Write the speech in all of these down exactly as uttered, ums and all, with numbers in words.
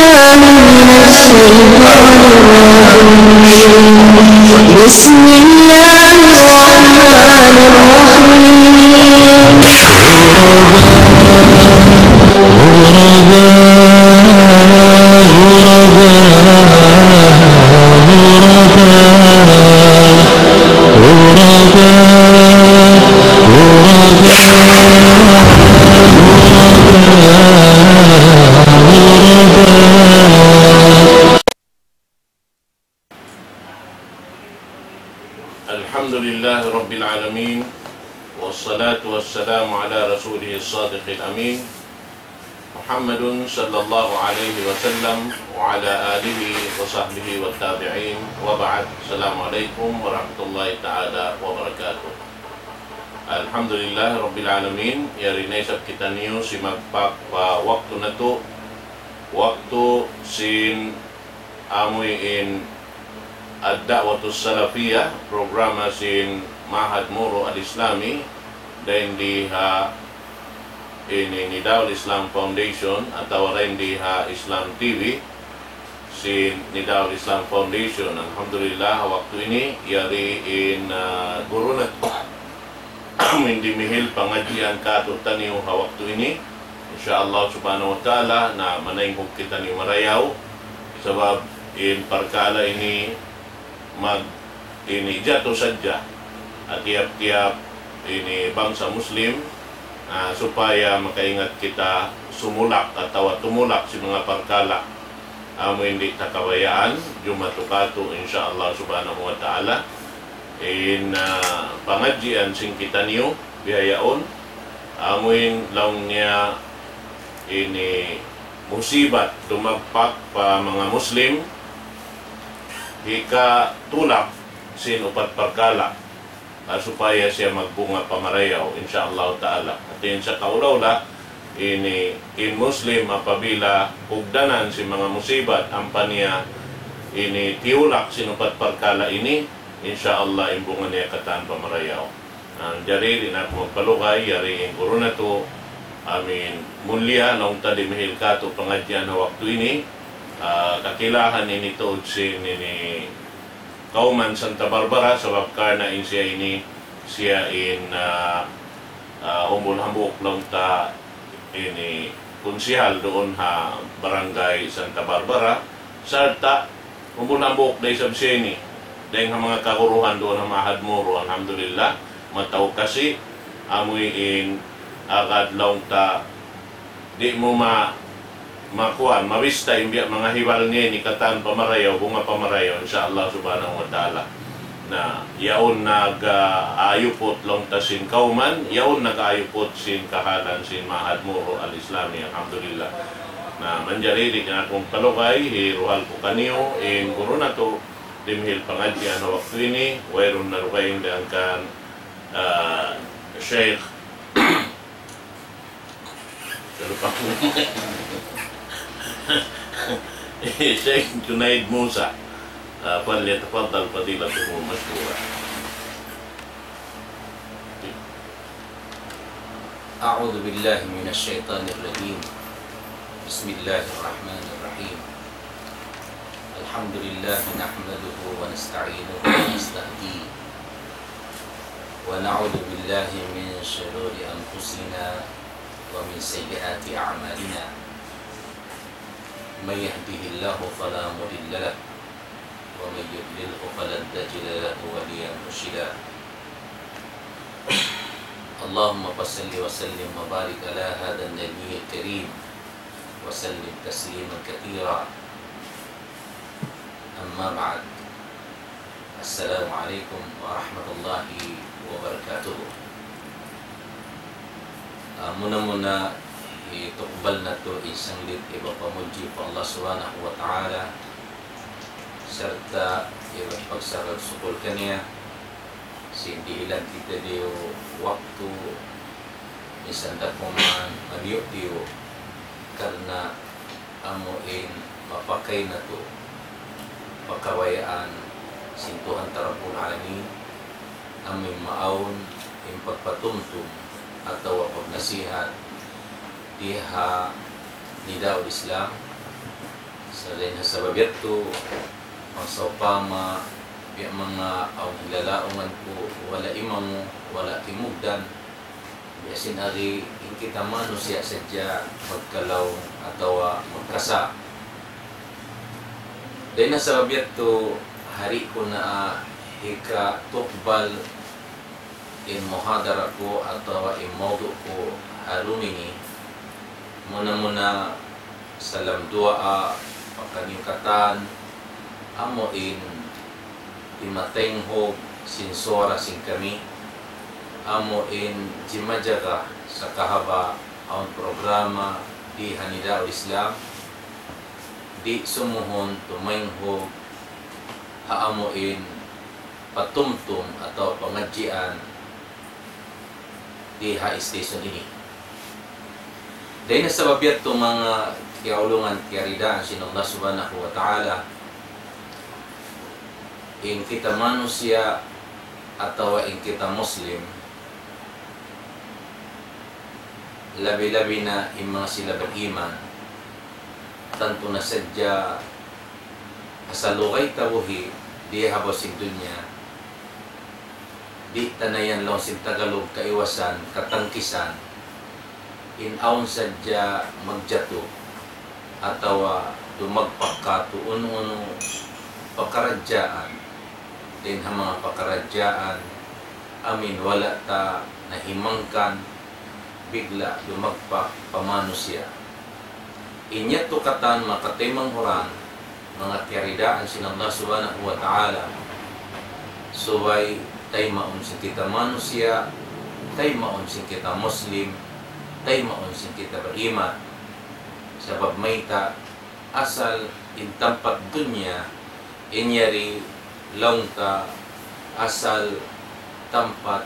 من الشيطان الرجيم. بسم الله الرحمن الرحيم. الحمد لله رب العالمين، والصلاة والسلام على رسوله الصادق الأمين، محمد صلى الله عليه وسلم وعلى آله وصحبه والتابعين، وبعد. السلام عليكم ورحمة الله تعالى وبركاته. Alhamdulillah Rabbil Alamin, yari na isab kitaniyu simagpak pa waktu natu', waktu sin amuin Ad-Da'watus Salafiyah, programa sin Ma'had Moro Al-Islami, dayn di ha ini Nida'ul Islam Foundation, atawa dayn di ha Islam T V, sin Nida'ul Islam Foundation. Alhamdulillah, waktu ini, yari in, ah, guru natu'. Amuin dimihil pangadjian kātu'niyu ha waktu ini. Insya Allah subhanahu wa ta'ala, na manaynghug kitaniyu marayaw. Sabab in parkala' ini mag-, ini jatu sadja ha tiyap-tiyap ini bangsa Muslim, ah, supaya makaingat kita sumulak atawa tumulak sin manga parkala' amu in di' ta kabayaan, jumatu kātu', insya Allah subhanahu wa ta'ala. In, ah, pangadjian sin kitaniyu, bihaun, amu in laung niya ini musibat dumagpak pa manga Muslim, hikatulak sin upat parkala', ah, supaya siya magbunga pa marayaw, insya Allah ta'ala. Hāti niya sa kaula-ula, ini in Muslim apabila ugdanan sin manga musibat, ampa niya ini tiyulak sin upat parkala' ini, insya Allah in bunga niya katan pa marayaw. Ah, jari di' na aku magpalugay, yari in guru natu', amuin mulliya, laung ta dimihil kātu' pangadjian ha waktu ini, ah, kakilahan ini tuud sin ini kawman Santa Barbara, sabab karna' in siya ini, siya in, ah, ah, umbul hambuuk laung ta ini kunsihal duun ha Barangay Santa Barbara, sarta' umbul hambuuk da isab siya ini dayn ha manga kaguruhan duun ha Ma'had Moro, alhamdulillah, mataud kasi, amuin agad laung ta di' mu ma-, makuan, mabista in biya' manga hibal niya ini katan pa marayaw, bunga pa marayaw, insya Allah subhanahu wa ta'ala. Na, yaun nag-, ah, ayuput laung ta sin kawman, yaun nag-ayuput sin kahalan sin Ma'had Moro Al-Islami, alhamdulillah. Na, manjari di' na aku magpalugay, hiruhal ku kaniyu in guru natu', dimihil pangadjian ha waktu ini, wayruun na dugaing dayn kan, ah, Sheikh الشيخ جنيد موسى، آه، فليتفضل فضيلته مشكورا. أعوذ بالله من الشيطان الرجيم. بسم الله الرحمن الرحيم. الحمد لله نحمده ونستعينه ونستهديه، ونعوذ بالله من شرور أنفسنا ومن سيئات أعمالنا. من يهده الله فلا مضل له، ومن يضلله فلن تجد له وليا مرشدا. اللهم فصل وسلم وبارك على هذا النبي الكريم، وسلم تسليما كثيرا. أما بعد. السلام عليكم ورحمة الله وبركاته. Ah, muna-muna, hitukbal natu' in sanglit iban pamudji pa Allah Subhanahu wa Ta'ala, sarta' iban pagsarang-sukul kaniya, sin dihilan kitaniyu waktu, minsan da kuman maniyu-tiyu, karna' amu in mapakay natu' pa kabayaan sin Tuhan ta Rabbul Alamin, amu in maawn in pagpatumtum atawa pagnasihat di ha Nidaul Islam, Sa' dayn ha sabab yadtu, bang sawpama, biya' manga awn hilalaungan ku, wala' imamu, wala' timugdan, biya' sin ari, in kita manusiya' sadja magkalaung atawa magkasa'. Dayn ha sabab yadtu, hari ku na hikatukbal in muhadara ku atawa in mawdu' ku ha dum ini, muna-muna salam duwaa pa kaniyu katan, amu in timataynghug sin suwara sin kami, amu in jimajaga sa kahaba' awn programa di ha Nidaul Islam, di' sumuhun tumaynghug ha amu in patumtum atawa pangadjian di ha station ini. Dayn ha sabab yadtu manga kiyaulungan kiyaridaan sin Allah Subhanahu wa Ta'ala, in kita manusiya' atawa in kita Muslim, labi-labi na in manga sila beriman, tantu na sadja ha salugay ta buhi' di ha babaw sin dunya, di' ta na yan laung sin Tagalog kaiwasan, katangkisan, in awn sadja magjatu atawa dumagpak katu' unu-unu pakaradjaan, dayn ha manga pakaradjaan, amu in wala' ta nahimangkan, bigla' dumagpak pa manusiya'. In yadtu katan manga kataymanghuran, manga kiyaridaan sin Allah Subhanahu wa Ta'ala, subay taymaun sin kita manusiya', taymaun sin kita Muslim, taymaun sin kita beriman. Sabab mayta', asal in tampat dunya, in yari laung ta asal tampat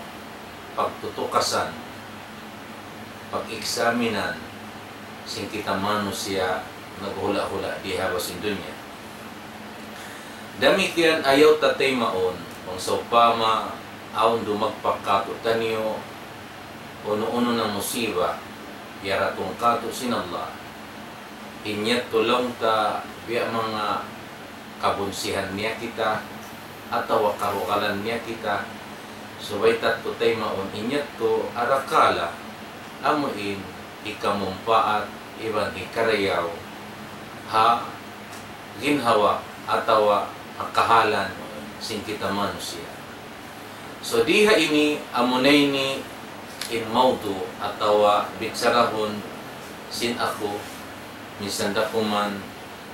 pagtutukasan, pag-eksaminan sin kita manusiya' naghula'-hula' di ha babaw sin dunya. Damikkiyan ayaw ta taymaun, bang sawpama awn dumagpak katu' taniyu, unu-unu na musiba, yaratung katu' sin Allah. In yadtu laung ta biya' manga kabunsihan niya kita, atawa karugalan niya kita, subay ta tuud taymaun in yadtu arakala', amu in hikamumpaat iban hikarayaw ha ginhawa atawa ha kahalan sin kita manusiya'. So, di ha ini, amuna ini in mawdu' atawa bicharahun sin aku, minsan da kuman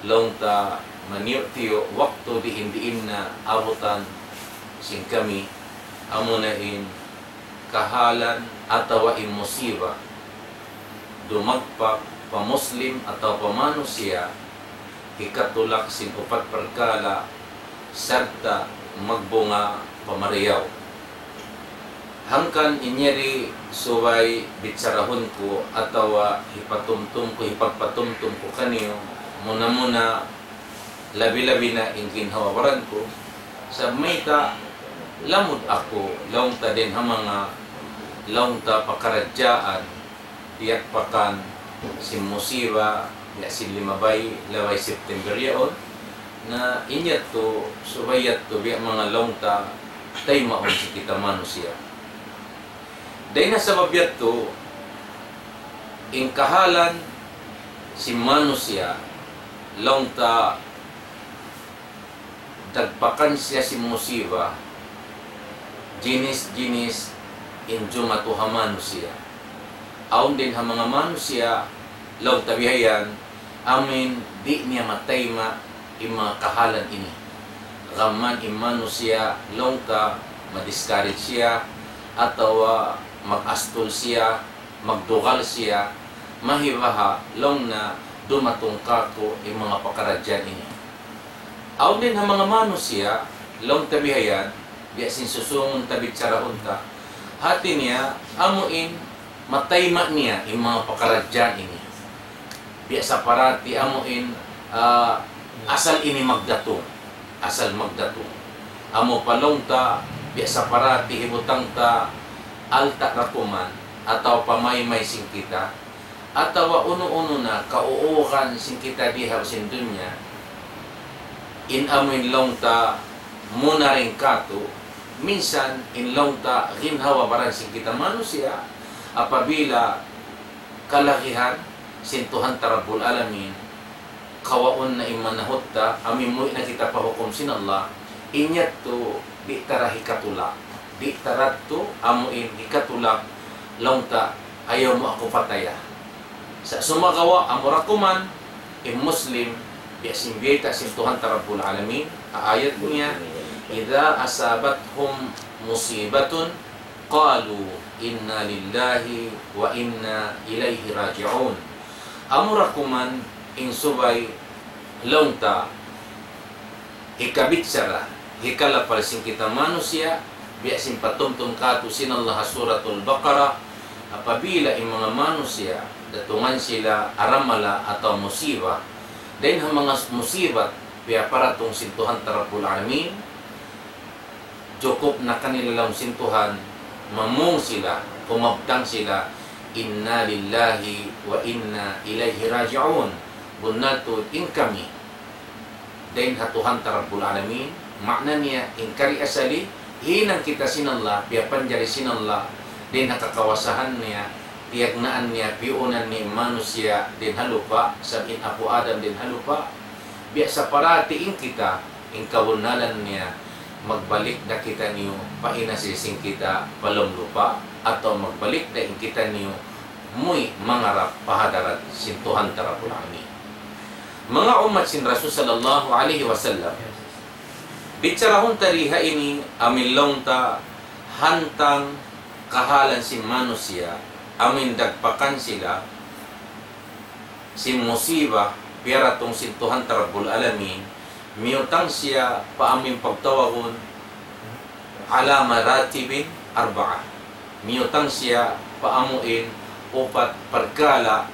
laung ta maniyu'-tiyu' waktu diin-diin na abutan sin kami, amuna in kahalan atawa in musiba dumagpak pa Muslim atawa pa manusiya', hikatulak sin upat parkala' sarta' magbunga pa marayaw. Hangkan in yari subay bicharahun ku atawa hipatumtum ku, hipagpatumtum ku kaniyu, muna-muna labi-labi na in ginhawa-baran ku, sabab mayta' lamud aku, laung ta dayn ha manga, laung ta pakaradjaan, tiyagpakan sin musiba, biya' sin limabay, labay September yaun, na in yadtu, subay yadtu, biya' manga laung ta, taymaun sin kita manusiya'. Dayn ha sabab yadtu, in kahalan sin manusiya', laung ta dagpakan siya sin musiba, jinis-jinis in jumatu ha manusiya'. Awn dayn ha manga manusiya', laung ta bihayan, amuin di' niya matayma' in manga kahalan ini. Gam man in manusiya', laung ta ma-discourage siya, atawa mag-astul siya, magdugal siya, mahibaha laung na dumatung kātu' in manga pakaradjaan ini. Awn dayn ha manga manusiya', laung ta bihayan, biya' sin susūngun ta, bicharahun ta. Hāti niya, amuin matayma' niya in manga pakaradjaan ini. Biya' sa parati amuin, ah, asal ini magdatung. Asal magdatung. Amu pa laung ta, biya' sa parati hibutang ta alta' da kuman, atawa pamaymay sin kita, atawa unu-unu na kauugan sin kita di ha sin dunya, in amuin laung ta muna rin katu', minsan in laung ta ginhawa-baran sin kita manusiya', apabila kalagihan sin Tuhan ta Rabbul Alamin, kawaun na in manahut ta, amu in muwi' na kita pa hukum sin Allah, in yadtu di' ta da hikatulak, di' ta da tu amuin hikatulak, laung ta, ayaw mu aku pataya. Sa' sumagawa', amura kuman, in Muslim, biya' sin biyayta' sin Tuhan ta Rabbul Alamin, ha ayat niya, إذا أصابتهم مصيبة قالوا إنا لله وإنا إليه راجعون. Amura kuman in subay laung ta hikabichara, hikalapal sin kita manusiya', biya' sin patumtum katu' sin Allah ha Suratul Baqarah, apabila in manga manusiya', datungan sila aramala atawa musiba, dayn ha manga musibat, piyaparatung sin Tuhan ta Rabbul Alamin, jukup na kanila laung sin Tuhan, mamung sila, kumabtang sila, إنا لله وإنا إليه راجعون. Bunnal tuud in kami dayn ha Tuhan ta Rabbul Alamin, maana niya, in kari asali, hinang kita sin Allah, piyapanjari sin Allah, dayn ha kakawasahan niya, piyagnaan niya, piyuunan niya in manusiya' dayn ha lupa', sabab in apu' Adam dayn ha lupa', biya' sa parati in kita, in kabunnalan niya, magbalik da kitaniyu pa inasisi sin kita pa lawm lupa', atawa magbalik da in kitaniyu muwi' mangarap pa hadarat sin Tuhan ta Rabbul Alamin. Manga ummat sin Rasul sallallahu alayhi wasallam, bicharahun ta di ha ini amuin laung ta hantang kahalan sin manusiya', amuin dagpakan sila sin musiba piyaratung sin Tuhan ta Rabbul Alamin, miyutang siya pa amuin pagtawagun على مراتب أربعة. Miyutang siya pa amuin upat parkala'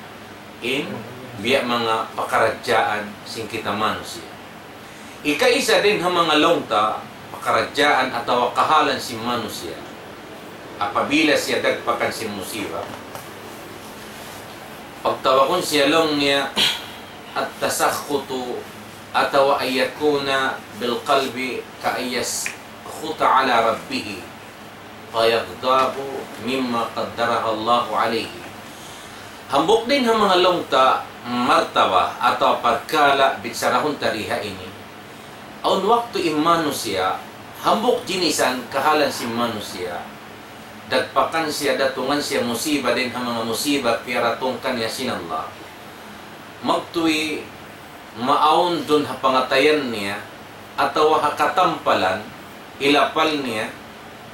in biya' manga pakaradjaan sin kita manusiya'. Ikaisa dayn ha manga laung ta pakaradjaan atawa kahalan sin manusiya'. Apabila siya dagpakan sin musiba, pagtawagun siya laung niya التسخط, atawa أن يكون بالقلب كأن يسخط على ربه فيغضب مما قدره الله عليه. Hambuuk dayn ha manga laung ta martaba atawa parkala' bicharahun ta di ha ini. Awn waktu in manusiya', hambuuk jinisan kahalan sin manusiya', dagpakan siya, datungan siya musiba dayn ha manga musiba piyaratung kaniya sin Allah. Magtuy maawn duun ha pangatayan niya, atawa ha katampalan, ilapal niya,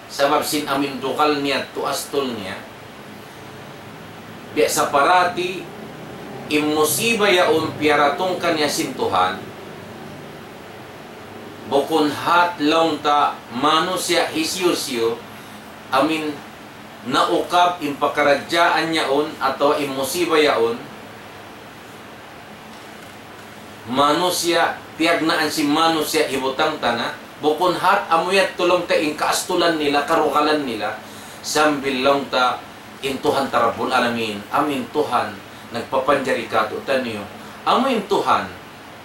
sabab sin amuin dugal niya, tu astul niya. Biya' sa parati, in musiba yaun piyaratung kaniya sin Tuhan, bukun hat laung ta manusiya' hisiyu-siyu, amuin naukab in pakaradjaan yaun atawa in musiba yaun, manusiya', piyagnaan sin manusiya' hibutang ta na, bukun hat amu yadtu laung ta in kaastulan nila, karugalan nila, sambil laung ta in Tuhan ta Rabbul Alamin, amuin Tuhan nagpapanjari katu'taniyu, amuin Tuhan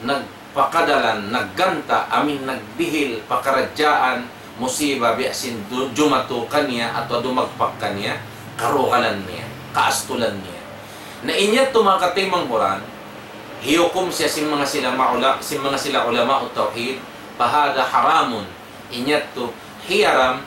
nagpakadalan, nagganta', amuin nagdihil pakaradjaan, musiba biya' sin du-, jumatu kaniya atawa dumagpak kaniya, karugalan niya, kaastulan niya. Na in yadtu manga kataymanghuran, hiyukum siya sin manga sila maula-, sin manga sila ulama'ut tawhid, فهذا حرام. In yadtu hiyaram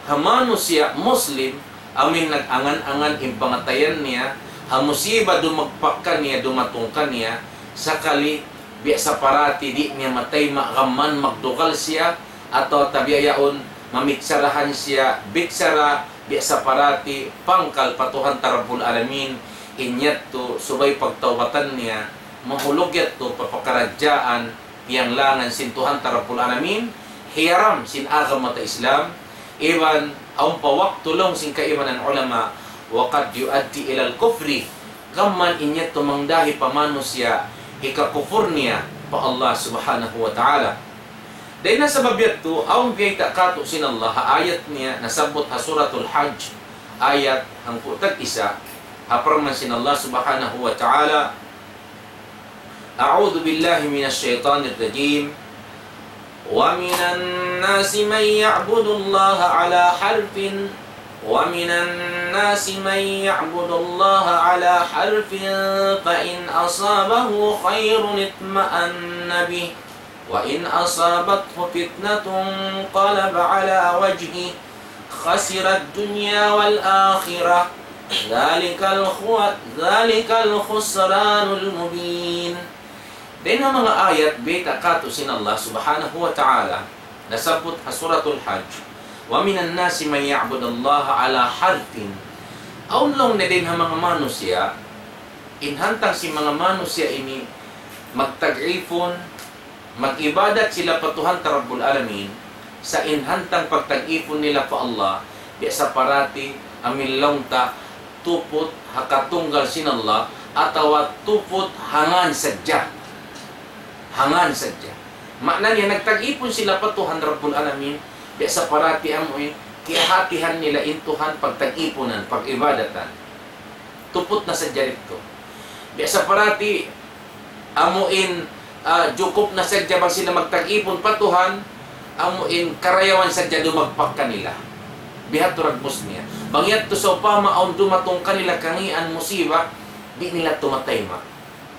ha manusiya' Muslim, amuin nag-angan-angan in pangatayan niya, ha musiba dumagpak kaniya, dumatung kaniya, sakali biya' sa parati di' niya matayma' gam mayan magdugal siya, atawa ta biya' yaun mamicharahan siya, bichara biya' sa parati pangkal pa Tuhan ta Rabbul Alamin, in yadtu subay pagtawbatan niya, mahulug yadtu pa pakaradjaan piyanglangan sin Tuhan ta Rabbul Alamin, hiyaram sin agama ta Islam, iban awn pa waktu laung sin kaibanan ulama, وقد يؤدي إلى الكفر, gam mayan in yadtu mangdahi pa manusiya' hikakupur niya pa Allah Subhanahu wa Ta'ala. Dayn ha sabab yadtu, awn biyayta' katu' sin Allah ha ayat niya nasabbut ha Suratul Hajj, ayat hangpu' tag-isa, Ha parman sin Allah Subhanahu wa Ta'ala, أعوذ بالله من الشيطان الرجيم. ومن الناس من يعبد الله على حرف، ومن الناس من يعبد الله على حرف، فإن أصابه خير اطمأن به، وإن أصابته فتنة انقلب على وجهه خسر الدنيا والآخرة، ذلك الخو-، ذلك الخسران المبين. Dayn ha manga ayat bayta' kātu' sin Allah Subhanahu wa Ta'ala, nasabbut ha Suratul Hajj, ومن الناس من يعبد الله على حرف. Awn laung niya dayn ha manga manusiya', in hantang sin manga manusiya' ini magtag-ipun, mag-ibadat sila pa Tuhan ta Rabbul Alamin, sa' in hantang pagtag-ipun nila pa Allah, biya' sa parati amu in laung ta tuput ha katunggal sin Allah, atawa tuput ha ngān sadja. Ha ngān sadja. Maana niya, nagtag-ipun sila pa Tuhan Rabbul Alamin, biya' sa parati amu in kiyahatihan nila in Tuhan pagtag-ipunan, pag-ibadatan. Tuput na sadja didtu. Biya' sa parati amu in, ah, jukup na sadja bang sila magtag-ipun pa Tuhan, amu in karayawan sadja dumagpak kanila. Bihadtu dagbus niya. Bang yadtu sawpama awn dumatung kanila kangīan, musiba, di' nila tumatayma'.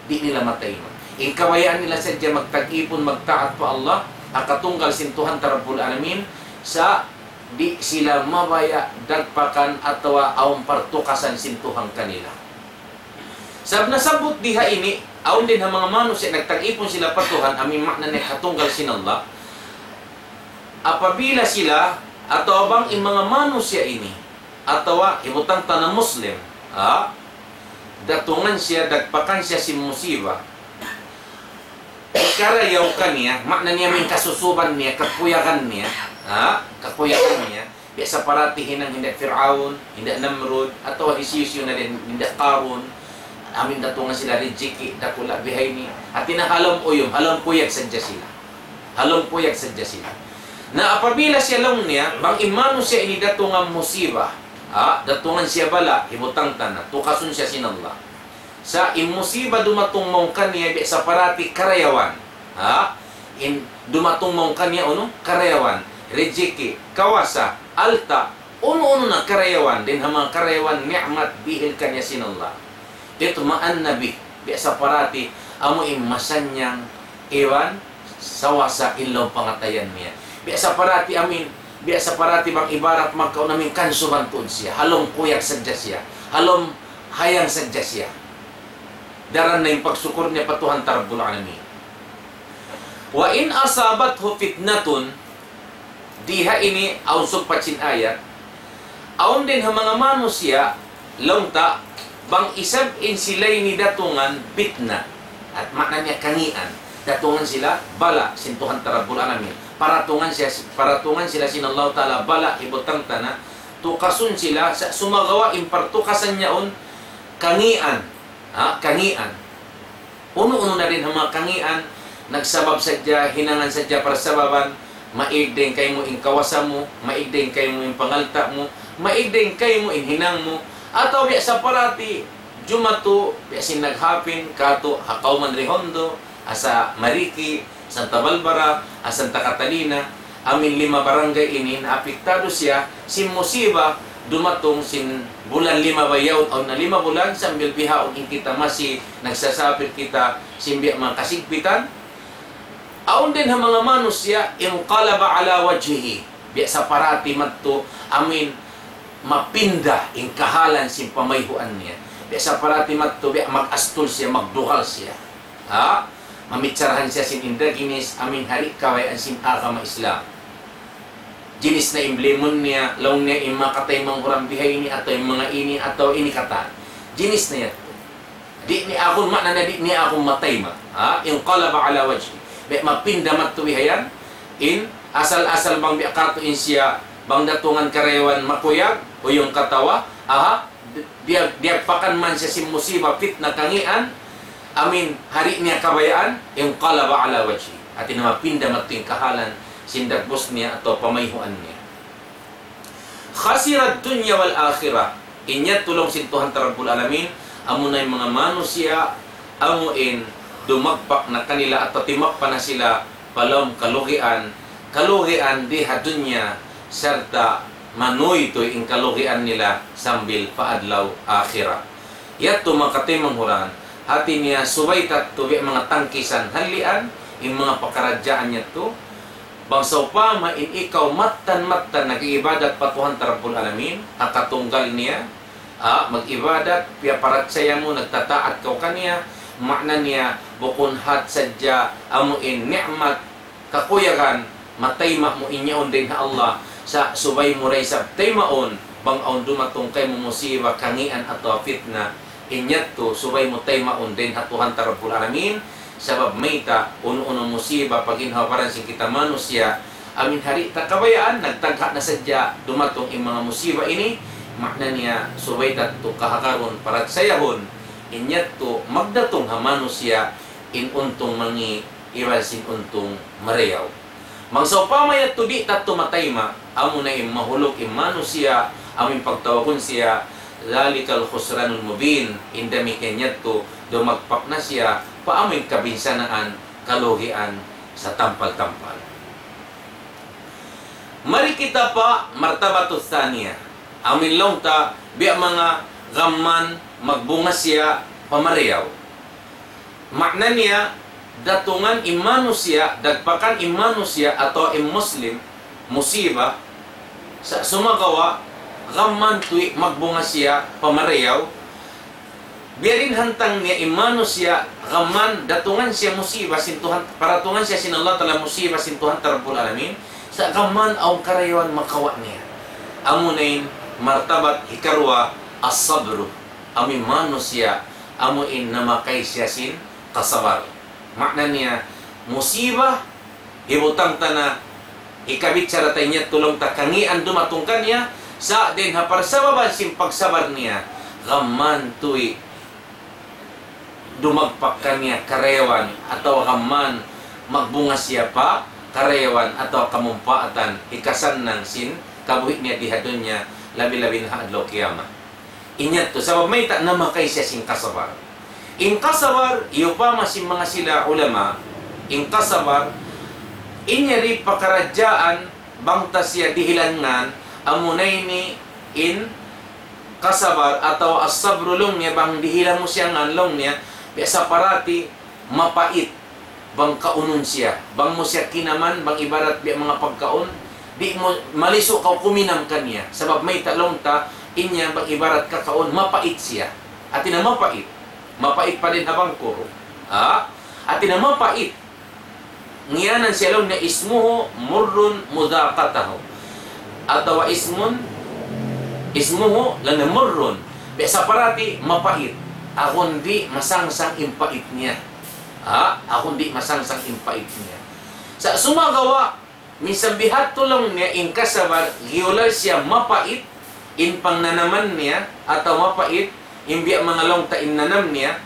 Di' nila matayma'. In kabayaan nila sadja magtag-ipun, magtaat pa Allah, ha katunggal sin Tuhan ta Rabbul Alamin, sa' di' sila mabaya' dagpakan atawa awn partukasan sin Tuhan kanila. Sabab nasabbut di ha ini, awn dayn ha manga manusiya' nagtag-ipun sila pa Tuhan, amu in maana niya katunggal sin Allah. Apabila sila, atawa bang in manga manusiya' ini, atawa hibutang ta na Muslim, ha? Datungan siya, dagpakan siya sin musiba. Karayaw kaniya, maana niya amu in kasusuban niya, kakuyagan niya, ha? Kakuyagan niya. Biya' sa parati hinang hinda Fir'aun, hinda Namrud, atawa hisiyu-siyu na dayn hinda Qarun. Amu in datungan sila rijiki', dakula' bihaini. Hati niya ha lawm uyum, ha lawm kuyag sadja sila. Ha lawm kuyag sadja sila. Na apabila siya laung niya, bang in manusiya' ini datungan musiba, ha, datungan siya bala', hibutang ta na, tukasun siya sin Allah. Sa' in musiba dumatung mawn kaniya biya' sa parati karayawan. Ha? In dumatung mawn kaniya unu? Karayawan. Rijiki', kawasa, alta', unu-unu na karayawan, dayn ha manga karayawan ni'mat dihil kaniya sin Allah. Itma'anna bih, biya' sa parati, amu in masannyang iban sawasa in lawm pangatayan niya. Biya' sa parati amu in, biya' sa parati bang ibarat magkaun amu in kansuban tuud siya, ha lawm kuyag sadja siya, ha lawm hayang sadja siya. Daran na in pagsukur niya pa Tuhan ta Rabbul Alamin. وإن أصابته فتنة, di ha ini awn sugpat sin ayat, awn dayn ha manga manusiya', laung ta, bang isab in sila ini datungan pitna, at maana niya kangīan, datungan sila bala' sin Tuhan ta Rabbul Alamin, paratungan siya, paratungan sila sin Allah Ta'ala bala', hibutang ta na, tukasun sila, sa' sumagawa' in partukasan yaun kangīan, ha, kangīan. Unu-unu na dayn ha manga kangīan, nagsabab sadja, hinangan sadja parsababan, maig dayn kaymu in kawasa mu, maig dayn kaymu in pangalta' mu, maig dayn kaymu in hinang mu, atawa biya' sa parati, jumatu, biya' sin naghapin, katu', ha kawman Redondo, asa Mariki, Santa Barbara, asa Santa Catalina, amu in lima barangay ini naapiktadu siya sin musiba dumatung sin bulan lima ba yaun, awn na lima bulan, sambil bihaun in kita masi nagsasapit kita sin biya' manga kasigpitan. Awn dayn ha manga manusiya', انقلب على وجهه. Biya' sa parati madtu, amu in mapinda in kahalan sin pamayhuan niya. Biya' sa parati madtu, biya' mag-astul siya, magdugal siya. Ha? Mamitsarahan siya sin indaginis, amu in di' kabayaan sin agama Islam. Jinis na in blimun niya, laung niya in makatay manghuram bihaini, atawa in manga ini, atawa ini katan. Jinis na yan. Di' niya aku, maana niya di' niya aku matayma'. Ha? انقلب على وجهه. Biya' mapinda madtu bihayan, in asal-asal bang biya' katu' in siya, bang datungan karayawan makuyag, uyum katawa, aha, biya', biya' pakan man siya sin musiba, pitna, kangīan, amu in di' niya kabayaan, انقلب على وجهه. Hati niya mapinda madtu in kahalan sin dagbus niya atawa pamayhuan niya. خسر الدنيا والآخرة. In yadtu laung sin Tuhan ta Rabbul Alamin, amuna in manga manusiya', amu in dumagpak na kanila atawa timagpa na sila pa lawm kalugian, kalugian di ha dunya, sarta' manuytuy in kalugian nila sambil pa adlaw akhirat. Yadtu manga kataymanghuran, hati niya subay ta tuud biya' manga tangkisan halian, in manga pakaradjaan yadtu, bang sawpama in ikaw mattan-mattan nag-iibadat pa Tuhan ta Rabbul Alamin, ha katunggal niya, ah, mag-ibadat, piyaparachaya mu, nagtataat kaw kaniya, maana niya, bukun hat sadja, amu in ni'mat, kakuyagan, matayma' mu in yaun dayn ha Allah, sa' subay mu da isab taymaun, bang awn dumatung kaymu musiba, kangian atawa fitna, in yadtu, subay mu taymaun dayn ha Tuhan ta Rabbul Alamin, sabab mayta', unu-unu musiba, pa ginhawa-baran sin kita manusiya', amu in di' ta kabayaan, nagtagha' na sadja, dumatung in manga musiba ini, maana niya, subay ta tuud kahagarun, parachayahun, in yadtu, magdatung ha manusiya', in untung mangi', iban sin untung marayaw. Bang sawpama yadtu di' ta tuud matayma', amuna in mahulug in manusiya', amu in pagtawagun siya, ذلك الخسران المبين, in damikkiyan yadtu, dumagpak na siya, pa amu in kabinsanaan, kalugian, satampal-tampal. Mari kita pa martabatus thaniya. Amu in laung ta, biya' manga gam magbunga siya pa marayaw. Maana niya, datungan in manusiya', dagpakan in manusiya' atawa in Muslim, musiba, sa' sumagawa', gam tuwi' magbunga siya pa marayaw, biya' diin hantang niya in manusiya', gam datungan siya musiba sin Tuhan, paratungan siya sin Allah Ta'ala musiba sin Tuhan ta Rabbul Alamin, sa' gam awn karayawan makawa' niya. Amuna in martabat hikaruwa, as-sabru. Amu in manusiya', amu in namakay siya sin kasabar. Maana niya, musiba, hibutang ta na, hikabichara ta in yadtu laung ta kangian dumatung kaniya, sa' dayn ha parsababan sin pagsabar niya, gam tuwi' dumagpak kaniya karayawan, atawa gam magbunga siya pa karayawan, atawa kamumpaatan, hikasannang sin kabuhi' niya di ha dunya, labi-labi na ha adlaw kiyamat. In yadtu, sabab mayta', namakay siya sin kasabar. In kasabar, iyupama sin manga sila ulama, in kasabar, in yari pakaradjaan, bang ta siya dihilan ngan, amuna ini in kasabar atawa as-sabru laung niya, bang dihilan mu siya ngan laung niya, biya' sa parati mapait. Bang kaunun siya, bang mu siya kinaman, bang ibarat biya' manga pagkaun, di' mu malisu' kaw kuminam kaniya. Sabab mayta' laung ta, in yan bang ibarat kakaun, mapait siya. Hati niya mapait. Mapait pa dayn ha bangkur. Ha? Hati niya mapait. Ngiyanan siya laung niya اسمه مر مذاقته. Atawa اسم, اسمه laung niya مر. Biya' sa parati mapait. Agun di' masangsang in pait niya. Ha? Agun di' masangsang in pait niya. Sa' sumagawa', minsan bihadtu laung niya in kasabar, giyulal siya mapait, in pangnanaman niya, atawa mapait, in biya' manga laung ta in nanam niya,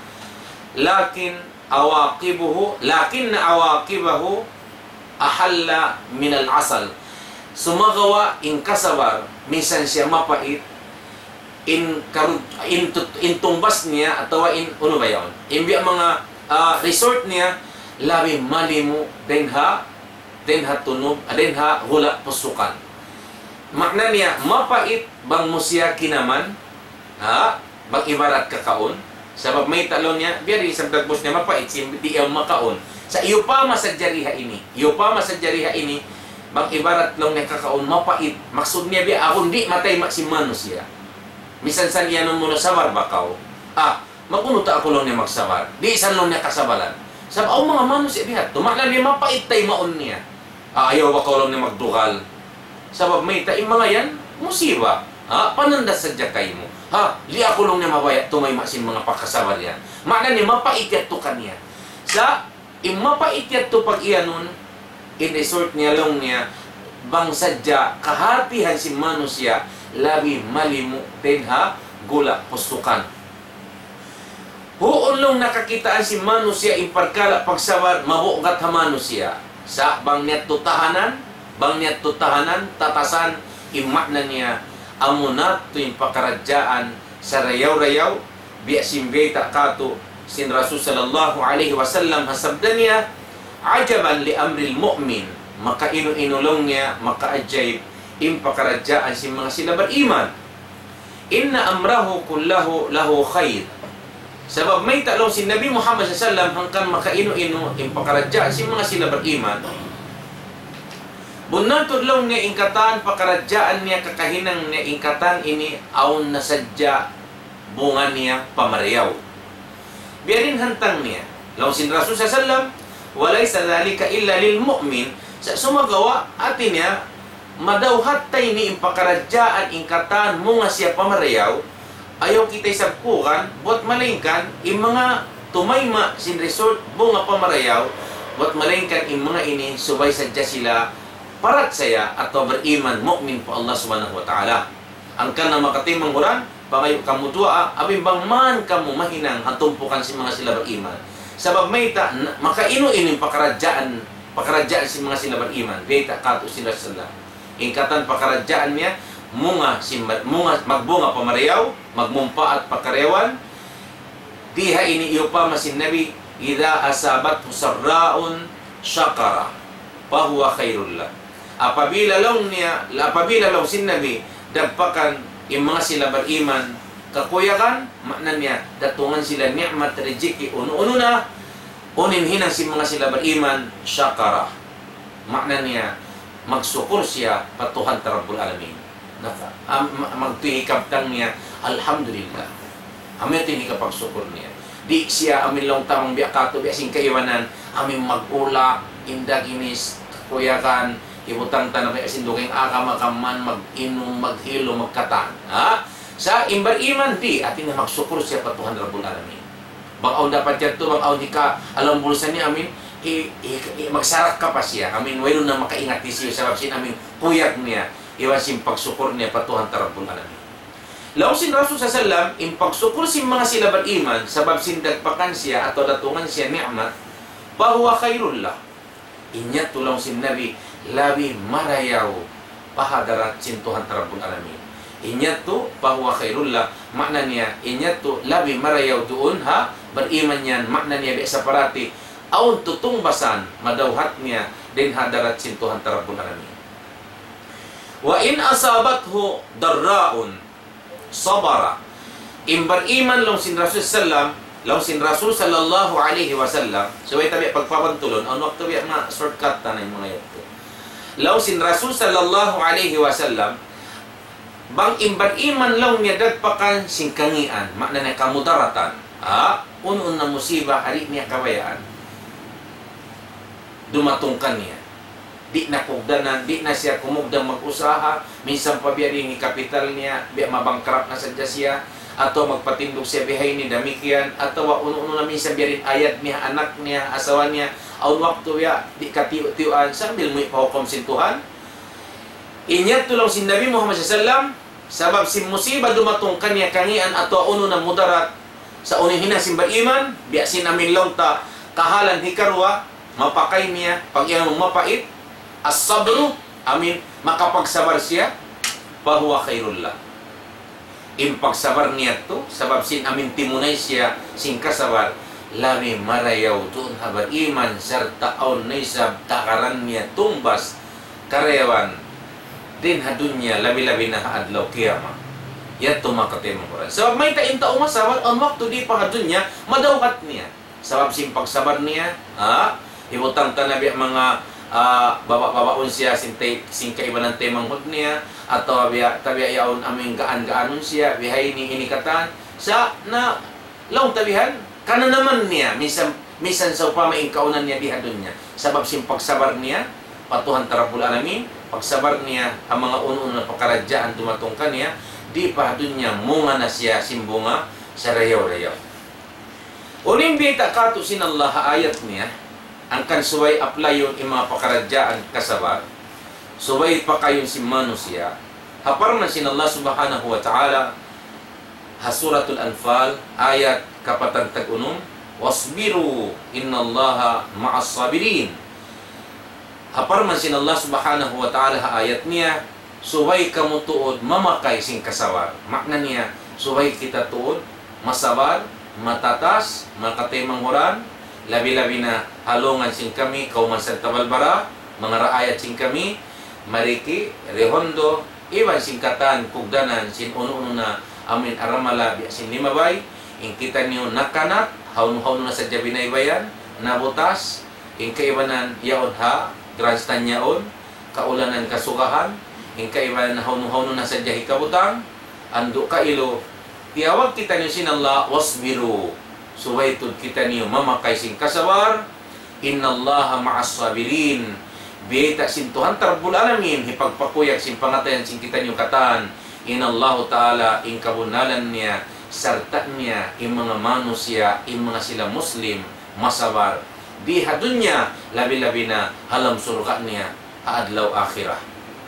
لكن عواقبه، لكن عواقبه أحلى من العسل. Sumagawa' in kasabar, minsan siya mapait, in karud-, in tut-, in tungbas niya atawa in unu ba yaun. In biya' manga, ah, result niya, labi malimu dayn ha, dayn ha tunub, ah, dayn ha gula' pusukan. Maana niya, mapait bang mu siya kinaman, ha? Bang ibarat kakaun. Sabab mayta' laung niya, biya' diin isab dagbus niya mapait, sin di' yaun makaun. Sa' iyupama sadja di ha ini. Iyupama sadja di ha ini, bang ibarat laung niya kakaun, mapait. Maksud niya biya' agun di' matayma' sin manusiya'. Minsan sa' iyanun mu na sabar ba kaw. Ah, mag-unu ta aku laung niya magsabar. Di' sa' laung niya kasabalan. Sabab awn manga manusiya' bihadtu. Maana niya mapait taymaun niya. Ah, ayaw ba kaw laung niya magdugal. Sabab mayta' in manga yan, musiba. Ha? Pananda' sadja kaymu. Ha? Di' aku laung niya mabaya' tumayma' sin manga pagkasabar yan. Maana niya mapait yadtu kaniya. Sa' in mapait yadtu pag-iyanun, in result niya laung niya, bang sadja kahatihan sin manusiya', labi malimu dayn ha gula' pusukan. Huun laung nakakitaan sin manusiya' in parkala' pagsabar, mabugat ha manusiya'. Sa' bang niya tu tahanan, bang niya tu tahanan, tatasan, in maana niya, Amuna tuud in pakaradjaan sarayaw-rayaw, biya' sin bayta' katu' sin Rasul sallallahu alayhi wasallam ha sabda niya, عجبا لأمر المؤمن, makainu-inu laung niya, makaajaib in pakaradjaan sin manga sila bariman. إن أمره كله له خير. Sabab mayta' laung sin Nabi Muhammad sallallahu alayhi wasallam hangkan makainu-inu in pakaradjaan sin manga sila bariman. Bunnal tuud laung niya in katan pakaradjaan niya, kakahinang niya in katan ini awn na sadja bunga niya pamarayaw. Biya' diin hantang niya. Laung sin Rasul sallallahu alayhi wasallam, وليس ذلك إلا للمؤمن. Sa' sumagawa', hati niya, madawhat ta ini in pakaradjaan in katan munga siya pamarayaw, ayaw kita isab kuyagan, buwat malaingkan in manga tumayma' sin result bunga pamarayaw, buwat malaingkan in manga ini subay sadja sila parachaya atawa bariman, mu'min pa Allah Subhanahu wa Ta'ala. Hangkan na makataymanghuran, pangayu' kamu duwaa, amin bang man kamu mahinang ha tumpukan sin manga sila bariman. Sabab mayta', na-, makainu-inu in pakaradjaan, pakaradjaan sin manga sila bariman. Bayta' katu' sin Rasulullah. In katan pakaradjaan niya, munga sin ma-, munga, magbunga pamarayaw, magmumpaat pa karayawan. Di ha ini iyupama sin Nabi, إذا أصابته سراء شكر فهو خير له. Apabila laung niya, apabila laung sin Nabi, dagpakan in manga sila bariman kakuyagan, maana niya, datungan sila ni'mat, rijiki, unu-unu na, unu in hinang sin manga sila bariman, شكر. Maana niya, magsukur siya pa Tuhan ta Rabbul Alamin. Naka-, am-, ma-, magtuy hikabtang niya, "Alhamdulillah." Amu yadtu in hikapagsukur niya. Di' siya amin laung ta bang biya' katu', biya' sin kaibanan, amin mag-ulak, indaginis, kakuyagan, hibutang ta na biya' sin dugaing agama kaman, mag-inum, maghilum, magkatan. Ha? Sa' in bariman, di', hati niya magsukur siya pa Tuhan Rabbul Alamin. Bang awn dapat yadtu, bang awn hika, alam bulsa niya amin, i, i, i, magsarak ka pa siya. Amin, wayruun na makaingat hisiyu, sabab sin amin, kuyag niya, iban sin pagsukur niya pa Tuhan ta Rabbul Alamin. Laung sin Rasul sallallahu alayhi wasallam, in pagsukur sin manga sila bariman, sabab sin dagpakan siya, atawa datungan siya ni'mat, فهو خير له. In yadtu laung sin Nabi, labi marayaw pa hadarat sin Tuhan ta Rabbul Alamin. In yadtu, فهو خير له, maana niya, in yadtu labi marayaw duun ha bariman yan, maana niya biya' sa parati, awn tutungbasan, madawhat niya, dayn ha hadarat sin Tuhan ta Rabbul Alamin. وإن أصابته ضراء صبر. In bariman laung sin Rasul sallam, laung sin Rasul sallallahu alayhi wasallam, subay ta biya' pagpabantulun, awn waktu biya' ma-shortcut ta na in manga yadtu. Laung sin Rasul sallallahu alayhi wasallam, bang in bariman laung niya dagpakan sin kangīan, maana niya kamudaratan. Ha? Unu-unu na musiba, di' niya kabayaan. Dumatung kaniya. Di' na kugdanan, di' na siya kumugdan mag-usaha, minsan pa biya' diin in kapital niya, biya' ma-bankrupt na sadja siya, atawa magpatindug siya bihaini damikkiyan, atawa unu-unu na minsan biya' diin ayad niya, anak niya, asawa niya, awn waktu biya' di' katiyu'-tiyuan, sambil muwi' pa hukum sin Tuhan. In yadtu laung sin Nabi Muhammad sallallahu alayhi wasallam, sabab sin musiba dumatung kaniya kangīan atawa unu na mudarat, sa' unu in hinang sin bariman, biya' sin amin laung ta, kahalan hikaruwa, mapakay niya, pag-iyanun mapait, الصبر, amin, makapagsabar siya, فهو خير له. In pagsabar niya yadtu, sabab sin amin timunay siya, sin kasabar, labi marayaw duun ha bariman, sarta' awn na isab takaran niya tungbas, karayawan, dayn ha dunya, labi-labi na ha adlaw kiyamat. Yadtu makataymanghuran. Sabab mayta' in tau masabar, awn waktu di' pa ha dunya, madawhat niya. Sabab sin pagsabar niya, ha? Hibutang ta na biya' manga, ah, baba'-babaun siya sin tay-, sin kaibanan taymanghud niya, atawa biya', ta biya' yaun amin gaan-gaanun siya, bihaini ini katan. Sa' na, laung ta bihan, kananaman niya, minsan, minsan sawpama in kaawnan niya di ha dunya. Sabab sin pagsabar niya, pa Tuhan ta Rabbul Alamin, pagsabar niya, ha manga unu-unu na pakaradjaan dumatung kaniya, di' pa ha dunya, munga na siya sin bunga, sarayaw-rayaw. Unu in biyayta' katu' sin Allah ha ayat niya, hangkan subay apply-un in manga pakaradjaan kasabar, subay pakayun sin manusiya'. Ha parman sin Allah Subhanahu wa Ta'ala, ha Suratul Anfal, ayat kapatan tag-unum, واصبروا إن الله مع الصابرين. Ha parman sin Allah Subhanahu wa Ta'ala ha ayat niya, Subay kamu tuud mamakay sin kasabar. Makna niya, subay kita tuud masabar, matatas, manga kataymanghuran, labi-labi na ha lawm sin kami, kawman sarta' balbara, manga raayat sin kami, Mariki, Redondo, iban sin katan kugdanan sin unu-unu na amuin aramala biya' sin limabay, in kitaniyu nakanak, hawnu-hawnu na sadja binaybayan, nabutas, in kaibanan yaun ha grandstand yaun, kaulanan kasugahan, in kaibanan hawnu-hawnu na sadja hikabutang, andu' kailu, tiyawag kitaniyu sin Allah, wasbiru. Subay tuud kitaniyu mamakay sin kasabar, innallaha ma'as sabirin. Biyayta' sin Tuhan Rabbul Alamin, hipagpakuyag sin pangatayan sin kitaniyu katan. In Allahu Ta'ala, in kabunnalan niya, sarta' niya, in manga manusiya', in manga sila Muslim, masabar. Di ha dunya, labi-labi na ha lawm surga' niya, ha adlaw akhirat.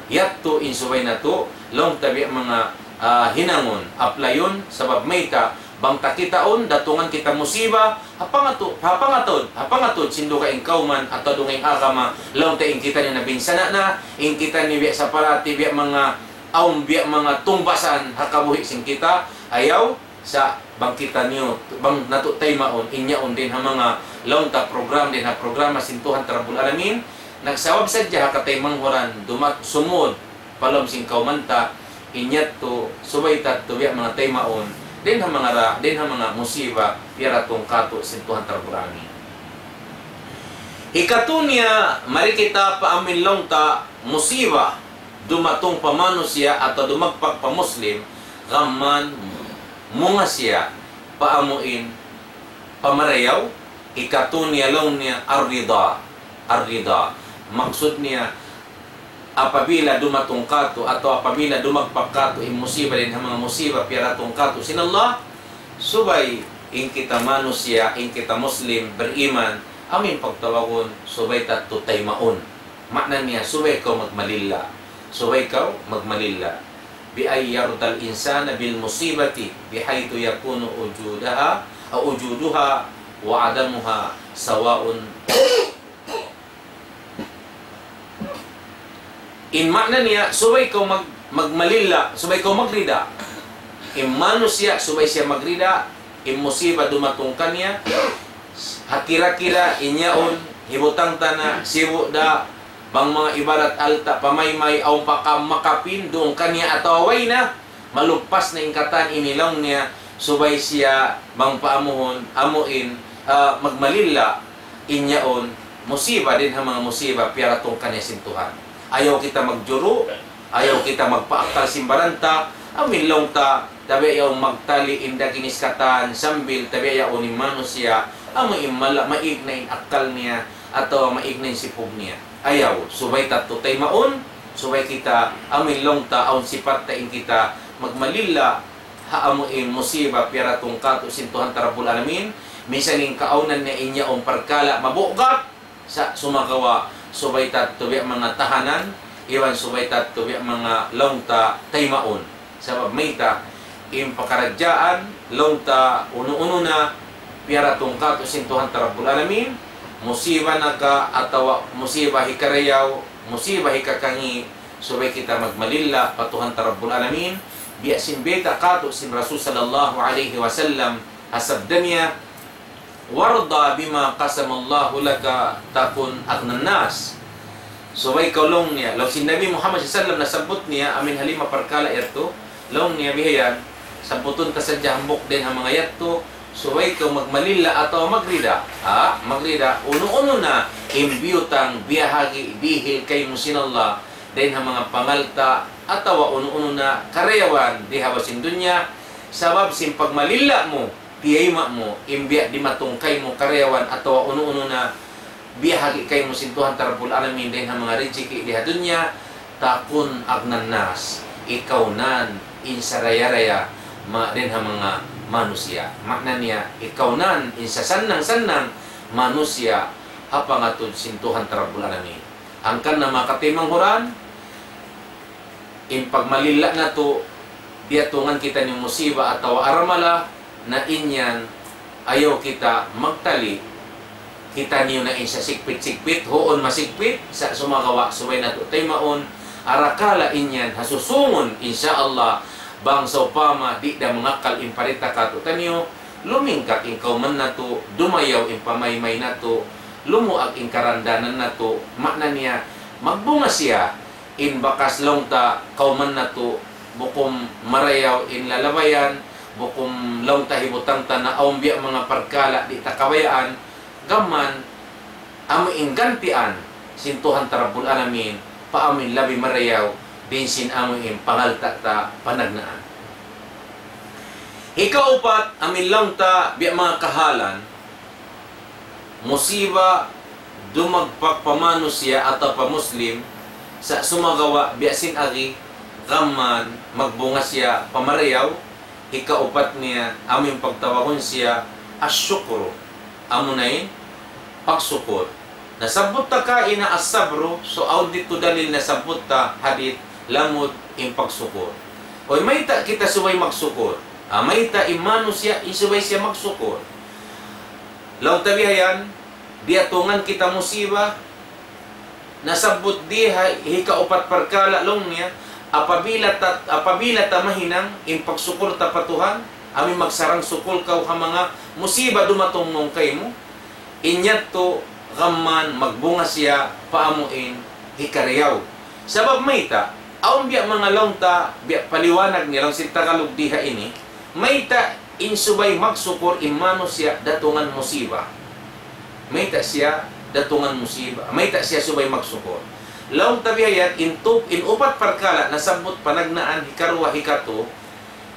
Yadtu in subay natu', laung ta biya' manga, ah, hinangun, aplayun, sabab mayta', bang ta kitaun, datungan kita musiba, ha pangatu-, ha pangatud, ha pangatud, sin dugaing kawman, atawa dugaing agama, laung ta in kitaniyu nabinsana' na, in kitaniyu biya' sa parati, biya' manga, awn biya' manga tungbasan, ha kabuhi' sin kita, ayaw, sa' bang kitaniyu, bang natu' taymaun, in yaun dayn ha manga laung ta program, dayn ha programa sin Tuhan Rabbul Alamin, nagsabab sadja ha kataymanghuran, dumat sumud, pa lawm sin kawman ta, in yadtu, subay ta tuud biya' manga taymaun, dayn ha manga ra-, dayn ha manga musiba, piyaratung katu' sin Tuhan Rabbul Alamin. Hikatu niya, mari kita pa amuin laung ta, musiba, dumatung pa manusiya' atawa dumagpak pa Muslim, gam man munga siya pa amuin pamarayaw, hikatu niya laung niya ar-rida, ar-rida. Maksud niya, apabila dumatung katu' atawa apabila dumagpak katu' in musiba dayn ha manga musiba piyaratung katu' sin Allah, subay in kita manusiya', in kita Muslim, beriman, amuin pagtawagun, subay ta tuud taymaun. Makna niya, subay kaw magmalilla. Subay kaw magmalilla. بأن يرضى الإنسان بالمصيبة بحيث يكون وجودها، أو وجودها وعدمها سواء. In makna niya, subay kaw mag-, magmalilla, subay kaw magrida. In manusiya', subay siya magrida, in musiba dumatung kaniya, ha kira-kira in yaun, hibutang ta na, sibu' da, bang manga ibarat alta' pamaymay, awn pa ka-, makapin, duun kaniya atawa way na, maluppas na in katan ini laung niya, subay siya bang paamuhun, amuin, ah, magmalilla, in yaun, musiba dayn ha manga musiba, piyaratung kaniya sin Tuhan. Ayaw kita magjuru', ayaw kita magpaakkal sin baran ta, amuin laung ta, tabiya' yaun magtali in daginis katan, sambil tabiya' yaun in manusiya', amuin mala-, maig na in akkal niya, atawa maig na in sipug niya. Ayaw, subay ta tuud taymaun, subay kita, amuin laung ta, awn sipat ta in kita, magmalilla, ha amuin musiba piyaratung katu' sin Tuhan ta Rabbul Alamin, minsan in kaawnan niya in yaun parkala' mabugat, sa' sumagawa' subay ta tuud biya' manga tahanan, iban subay ta tuud biya' manga laung ta taymaun. Sabab mayta', in pakaradjaan, laung ta unu-unu na, piyaratung katu' sin Tuhan ta Rabbul Alamin, musiba na ka atawa musiba hikarayaw, musiba hikakangi', subay kita magmalilla pa Tuhan ta Rabbul Alamin, biya' sin bayta' katu' sin Rasul sallallahu alayhi wasallam, ha sabda niya, وارض بما قسم الله لك تكن أغنى الناس. Subay kaw laung niya, laung sin Nabi Muhammad sallallahu alayhi wasallam nasabbut niya, amuin ha lima parkala' yadtu, laung niya bihayan, sabbutun ta sadja hambuuk dayn ha manga yadtu, subay kaw magmalilla atawa magrida. Ha, magrida, unu-unu na, in biyutang, biyahagi', dihil kaymu sin Allah, dayn ha manga pangalta', atawa unu-unu na karayawan di ha babaw sin dunya, sabab sin pagmalilla mu, tiyayma' mu, in biya' dimatung kaymu karayawan atawa unu-unu na biyahagi' kaymu sin Tuhan ta Rabbul Alamin dayn ha manga rijiki' di ha dunya, تكن أغنى الناس, ikaw na in saraya-raya ma-, dayn ha manga manusiya'. Makna niya, ikaw na in sasannang-sannang manusiya' ha pangatud sin Tuhan ta Rabbul Alamin. Hangkan na manga kataymanghuran, in pagmalilla natu', diyatungan kitaniyu musiba atawa aramala, na in yan, ayaw kita magtali, kitaniyu na in sasigpit-sigpit, huun masigpit, sa' sumagawa' subay natu' taymaun, Arakala' in yan ha susungun, insya Allah, bang sawpama di' da mangakkal in parita katu'taniyu, lumingkat in kawman natu', dumayaw in pamaymay natu', lumuag in karandanan natu', maana niya, magbunga siya, in bakas laung ta kawman natu', bukun marayaw in lalabayan, bukun laung ta hibutang ta na awn biya' manga parkala' di' ta kabayaan, gam mayan, amu in gantian sin Tuhan ta Rabbul Alamin, pa amu in labi marayaw, dayn sin amu in pangalta' ta panagnaan. Hikaupat, amu in laung ta biya' manga kahalan, musiba, dumagpak pa manusiya' atawa pa Muslim, sa' sumagawa' biya' sin agi, gam mayan, magbunga siya pa marayaw, hikaupat niya, amu in pagtawagun siya, as-shukru. Amu na in pagsukur. Nasabbut ta kaina as-sabru, so awn didtu dalil nasabbut ta hadith, lamud in pagsukur. Uy, mayta' kita subay magsukur? Ah, mayta' in manusiya' in subay siya magsukur? Laung ta bihayan, diyatungan kita musiba, nasabbut di ha hikaupat parkala' laung niya, apabila ta, apabila ta mahinang in pagsukur ta pa Tuhan, amu in magsarang-sukul kaw ha manga musiba dumatung mawn kaymu, in yadtu gam mayan magbunga siya pa amu in hikarayaw. Sabab mayta', awn biya' manga laung ta, biya' paliwanag niya laung sin Tagalog di ha ini, mayta' in subay magsukur in manusiya' datungan musiba. Mayta' siya datungan musiba. Mayta' siya subay magsukur. Laung ta bihayan, in tup-, in upat parkala' nasabbut panagnaan, hikaruwa, hikatu,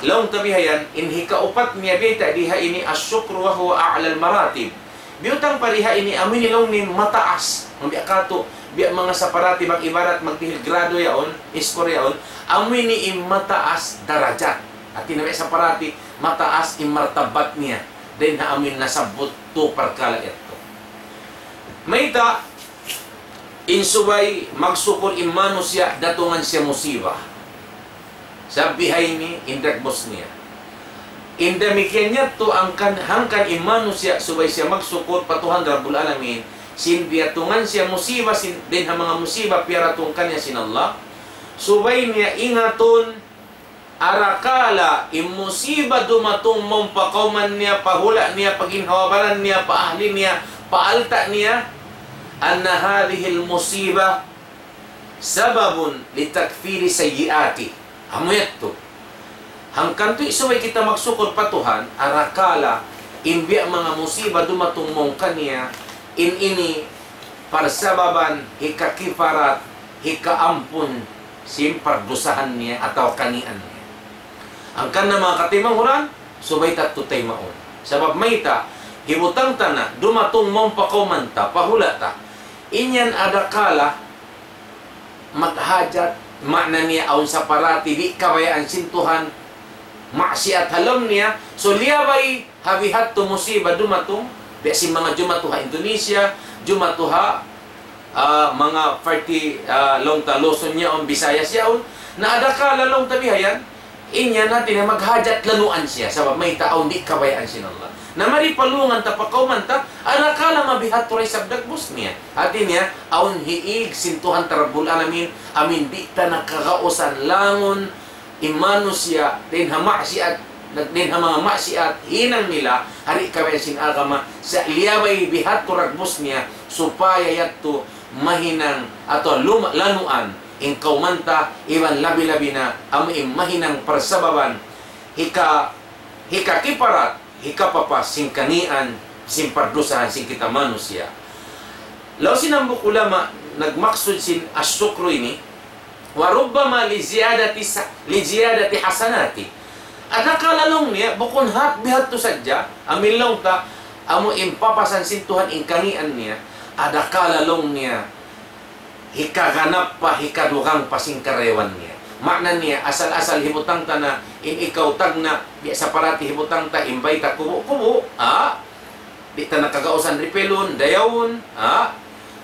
laung ta bihayan, in hikaupat niya bayta' di ha ini, الشكر وهو أعلى المراتب. Biyutang pa di ha ini, amu ini laung niya mataas. Ambiya' katu', biya' manga saparati, mag-ibarat, magdihil grado yaun, score yaun, amu ini in mataas darajat. Hati niya biya' saparati, mataas in martabat niya. Dayn ha amu in nasabbut tu parkala' yadtu. Mayta', in subay magsukur in manusiya' datungan siya musiba. Sabab bihaini in dagbus niya. In damikkiyan yadtu hangkan, hangkan in manusiya' subay siya magsukur pa Tuhan Rabbul Alamin, sin diyatungan siya musiba, sin, dayn ha manga musiba piyaratung kaniya sin Allah. Subay niya ingatun, arakala' in musiba dumatung mawn pa kawman niya, pa hula' niya, pa ginhawa-baran niya, pa ahli niya, pa alta' niya, أن هذه المصيبة سبب لتكفير سيئاته. Amu yadtu. Hangkan tuud subay kita magsukur pa Tuhan, arakala' in biya' manga musiba dumatung mawn kaniya, in ini parsababan hikakiparat, hikaampun sin pardusahan niya atawa kangīan niya. Hangkan na manga kataymanghuran, subay ta tuud taymaun. Sabab mayta', hibutang ta na, dumatung mawn pa kawman ta, pa hula' ta. In yan adakala, maghajat, maana niya awn saparati, di' kabayaan sin Tuhan, maksiat ha lawm niya, so liyabay ha bihadtu musiba dumatung, biya' sin manga jumatu ha Indonesia, jumatu ha, ah, manga parti, ah, laung ta Luzon yaun, Visayas yaun, na adakala laung ta bihayan, in yan hati niya maghajat lanuan siya, sabab mayta' awn di' kabayaan sin Allah. Na mari palungan ta pa kawman ta, adakala mabihadtu da isab dagbus niya. Hati niya, awn hiig sin Tuhan ta Rabbul Alamin, amu in di' ta na kagausan langun, in manusiya', dayn ha maksiat, dayn ha manga maksiat, hinang nila, ha di' kabayaan sin agama, sa' liyabay bihadtu dagbus niya, supaya yadtu mahinang atawa luma-, lanuan, in kawman ta, iban labi-labi na, amu in mahinang parsababan, hika-, hikakiparat, hikapapas sin kangīan, sin pardusahan sin kita manusiya'. Laung sin hambuuk ulama, nagmaksud sin as-shukru ini, وربما لزيادة س-، لزيادة حسناته. Adakala laung niya, bukun hat bihadtu sadja, amu in laung ta, amu in papasan sin Tuhan in kangīan niya, adakala laung niya, hikaganap pa, hikadugang pa sin karayawan niya. Maana niya, asal-asal hibutang ta na, in ikaw tagna', biya' saparati hibutang ta, in bayta' kubu'-kubu', ah, di' ta na kagausan ripelun, dayawun, ha?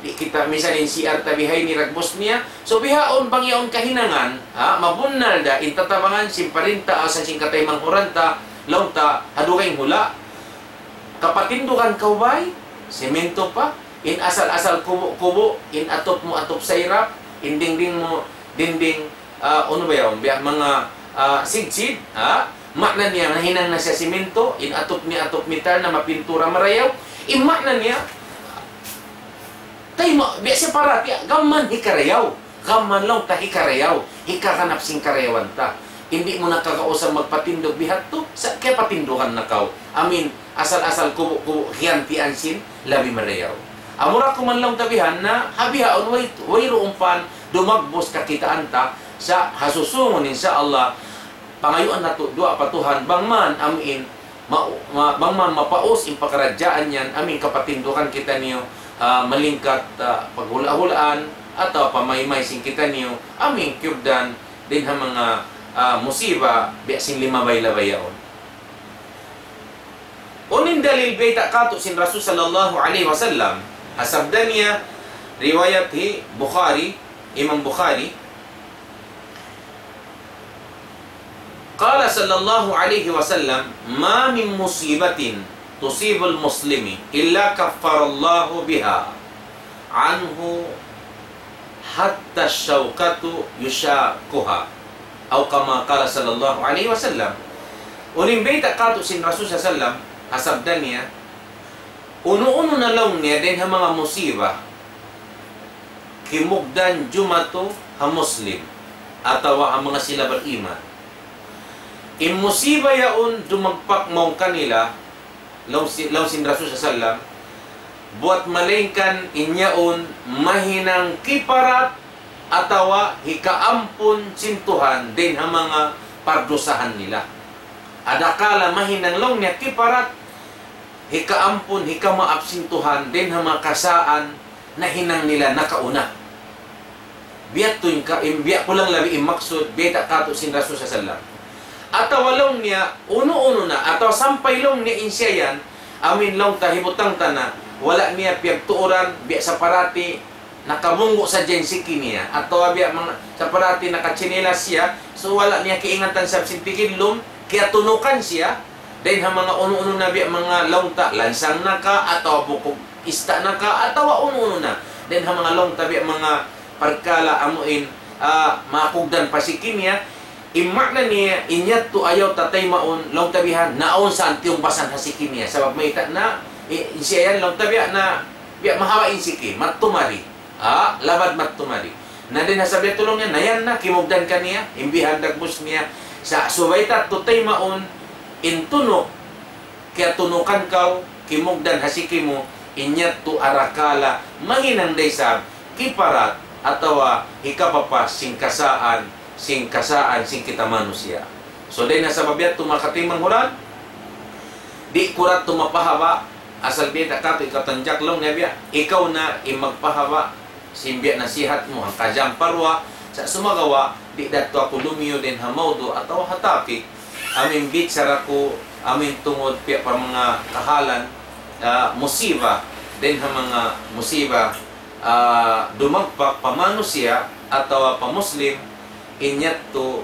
Di' kita misan in C R ta bihaini dagbus niya. So bihaun bang yaun kahinangan, ha? Mabunnal da in tatabangan sin parinta asan sin kataymanghuran ta, laung ta, ha dugaing hula'. Kapatindugan kaw bay, semento pa, in asal-asal kubu'-kubu', in atup mu atup sairap, in dingding mu dinding, ah, unu ba yaun, biya' manga, ah, sidsid, ha? Maana niya, nahinang na siya siminto, in atup niya atup metal na mapintura marayaw. In maana niya, tayma, biya' siya parati, gam mayan hikarayaw. Gam mayan laung ta hikarayaw, hikaganap sin karayawan ta. Di' mu na kagausan magpatindug bihadtu, sa' kiyapatindugan na kaw. Amin, asal-asal kubu'-kubu' hiyantian sin labi marayaw. Amura kuman laung ta bihan na, ha bihaun way, wayruun pan dumagbus kakitaan ta, sa' ha susungun, insya Allah, pangayuan natu' duwaa pa Tuhan, bang man amuin, ma-, ma-, bang man mapaus in pakaradjaan yan, amuin kapatindugan kitaniyu, ah, malingkat, ah, paghula'-hulaan, atawa pamaymay sin kitaniyu, amuin kiyugdan, dayn ha manga, ah, musiba, biya' sin limabay-labay yaun. Unu in dalil bayta' katu' sin Rasul sallallahu alayhi wasallam, ha sabda niya, riwayat hi Bukhari, Imam Bukhari, قال صلى الله عليه وسلم: ما من مصيبة تصيب المسلم إلا كفر الله بها عنه حتى الشوكة يشاكها. أو كما قال صلى الله عليه وسلم. Unu in bayta' katu' sin Rasul sallallahu alayhi wasallam, ha sabda niya, unu-unu na laung niya dayn ha manga musiba, kimugdan jumatu ha Muslim, atawa ha manga sila bariman. In musiba yaun dumagpak mawn kanila, laung si-, laung sin Rasul sallallahu alayhi wasallam, buwat malaingkan in yaun mahinang kiparat atawa hikaampun sin Tuhan dayn ha manga pardusahan nila. Adakala mahinang laung niya kiparat, hikaampun, hikamaap sin Tuhan dayn ha manga kasaan nahinang nila nakauna. Biya' ha yan in ka-, in biya' kulang labi in maksud, bayta' katu' sin Rasul sallallahu alayhi wasallam. Atawa laung niya, unu-unu na, atawa sampay laung niya in siya yan, amuin laung ta hibutang ta na, wala' niya piyagtuuran, biya' sa parati, nakabunggu' sadja in siki niya, atawa biya' manga, sa parati nakatsinelas siya, so wala' niya kiingatan sa sin tigidlum, kiyatunukan siya, dayn ha manga unu-unu na biya' manga laung ta, lansang na ka, atawa bukug ista' na ka, atawa unu-unu na. Dayn ha manga laung ta biya' manga parkala' amuin, ah, makugdan pa siki niya, in maana niya, in yadtu ayaw ta taymaun, laung ta bihan, naawn sa tiyungbasan ha siki niya. Sabab mayta' na, i-, in siya yan, laung ta biya' na, biya' mahaba' in siki, matumari. Ah, labad matumari. Na dayn ha sabab yadtu laung niya, na yan na, kimugdan kaniya, in bihan dagbus niya. Sa' subay ta yadtu taymaun, in tunuk, kiyatunukan kaw, kimugdan ha siki mu, in yadtu arakala', mahinang da isab, kiparat, atawa hikapapas, sin kasaan, sin kasaan, sin kita manusiya'. So, dayn ha sabab yadtu manga kataymanghuran, di' ku da yadtu mapahaba', asal bayta' katu' in katan jaklung niya biya', ikaw na in magpahaba', sin biya' nasihat mu, hangka jam pa duwa, sa' sumagawa', di' da yadtu aku lumiyu dayn ha mawdu' atawa ha topic, amuin bichara ku, amuin tungud biya' pa manga kahalan, ah, musiba, dayn ha manga musiba, ah, dumagpak pa manusiya' atawa pa Muslim, in yadtu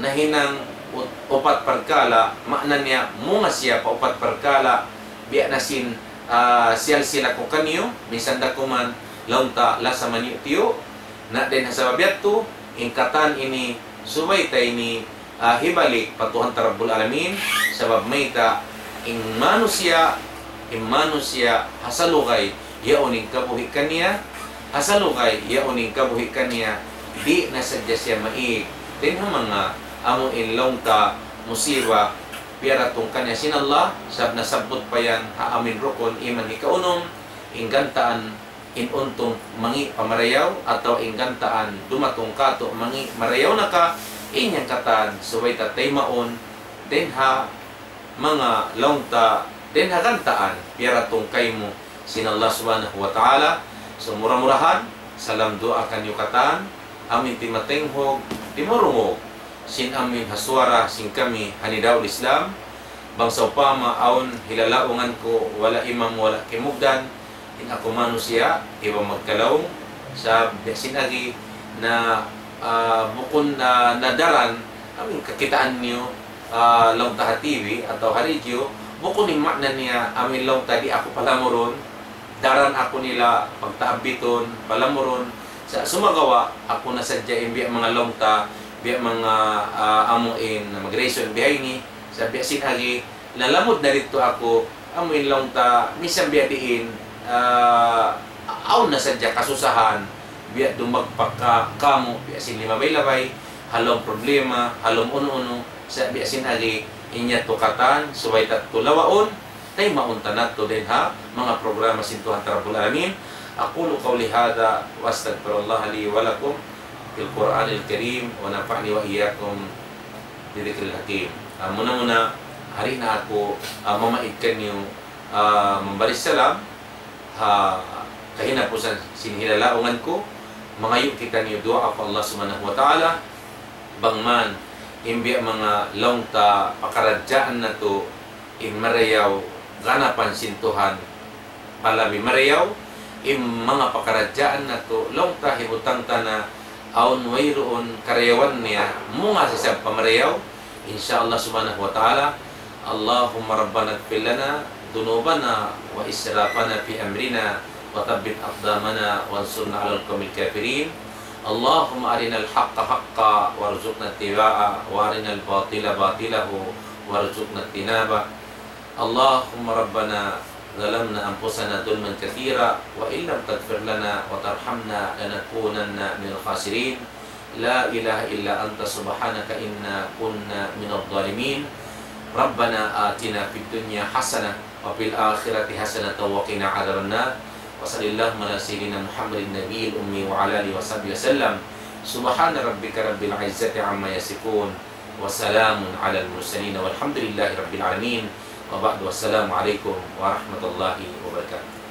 nahinang ut-, upat parkala', maana niya munga siya pa upat parkala', biya' na sin, ah, siyalsila ku kaniyu, minsan da kuman laung ta lasa maniyu'-tiyu', na dayn ha sabab yadtu, in katan ini, subay ta ini, ah, hibalik pa Tuhan ta Rabbul Alamin, sabab mayta', in manusiya', in manusiya', ha salugay, yaun in kabuhi' kaniya, ha salugay, yaun in kabuhi' kaniya, di' na sadja siya maig. Dayn ha manga, amuin laung ta, musiba, piyaratung kaniya sin Allah, sabab nasabbut pa yan, ha amuin rukun, iman hikaunum, in gantaan, in untung mangi' pa marayaw, atawa in gantaan dumatung katu' mangi' marayaw na ka, in yan katan subay ta taymaun, dayn ha manga laung ta, dayn ha gantaan, piyaratung kaymu sin Allah Subhanahu wa Ta'ala. So, mura-murahan, salam duwaa kaniyu katan, amuin timatenghug, timurungug, sin amuin ha suwara, sin kami, ha Nidaul Islam, bang sawpama awn hilalaungan ku, wala' imam, wala' kimugdan, in aku manusiya', iban magkalaung, sa' biya' sin agi na, ah, bukun na, na daran, amuin kakitaan niyu, ah, laung ta ha T V atawa ha radio, bukun in maana niya, amuin laung ta di' aku palamurun, daran aku nila pagtaabbitun, palamurun, Sa' sumagawa', aku na sadja in biya' manga laung ta, biya' manga, ah, amu in mag-reason bihaini, sa' biya' sin agi, lalamud na didtu aku, amu in laung ta, misan biya' diin, ah, awn na sadja kasusahan, biya' dumagpak ka, kamu, biya' sin limabay-labay, ha lawm problema, ha lawm unu-unu, sa' biya' sin agi, in yadtu katan, subay ta tuud lawaun, taymaun ta natu' dayn ha manga programa sin Tuhan ta Rabbul Alamin. أقول قولي هذا وأستغفر الله لي ولكم في القرآن الكريم ونفعني وإياكم بذكر الحكيم. Ah, muna-muna, hari na aku, ah, mamaid kaniyu, ah, mambari salam, ha kahinapusan sin hilalaungan ku, mangayu' kitaniyu duwaa pa Allah Subhanahu wa Ta'ala, bang man, in biya' manga laung ta pakaradjaan natu', in marayaw ganapan sin Tuhan, palabi marayaw, in manga pakaradjaan natu', laung ta hibutang ta na, awn wayruun karayawan niya, munga sa isab pa marayaw, in sha Allah Subhanahu wa Ta'ala. اللهم ربنا اغفر لنا ذنوبنا وإسرافنا في أمرنا وثبت أقدامنا وانصرنا على القوم الكافرين. اللهم أرنا الحق حقا وارزقنا اتباعه وأرنا الباطل باطلا وارزقنا اجتنابه. اللهم ربنا ظلمنا أنفسنا ظلما كثيرا وإن لم تغفر لنا وترحمنا لنكونن من الخاسرين. لا إله إلا أنت سبحانك إنا كنا من الظالمين. ربنا آتنا في الدنيا حسنة وفي الآخرة حسنة وقنا عذاب النار. وصل اللهم على سيدنا محمد النبي الأمي وعلى آله وصحبه وسلم. سبحان ربك رب العزة عما يصفون. وسلام على المرسلين والحمد لله رب العالمين. وبعد، والسلام عليكم ورحمة الله وبركاته.